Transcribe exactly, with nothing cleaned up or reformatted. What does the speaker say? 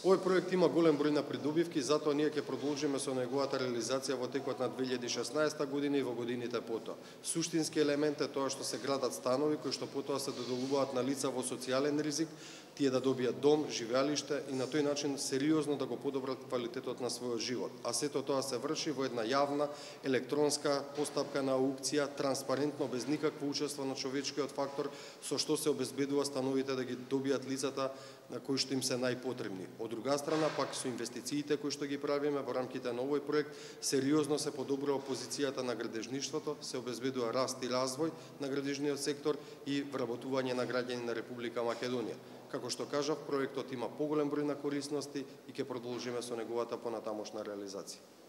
Овој проект има голем број на придобивки, затоа ние ќе продолжиме со неговата реализација во текот на две илјади и шеснаесета година и во годините потоа. Суштински елемент е тоа што се градат станови кои што потоа се доделуваат на лица во социјален ризик, тие да добијат дом, живеалиште и на тој начин сериозно да го подобрат квалитетот на својот живот. А сето тоа се врши во една јавна електронска постапка на аукција, транспарентно, без никакво учество на човечкиот фактор, со што се обезбедува становите да ги добијат лицата на кои што им се најпотребни. Од друга страна, пак со инвестициите кои што ги правиме во рамките на овој проект, сериозно се подобрува позицијата на градежништвото, се обезбедува раст и развој на градежниот сектор и вработување на граѓани на Република Македонија. Како што кажав, проектот има поголем број на корисности и ќе продолжиме со неговата понатамошна реализација.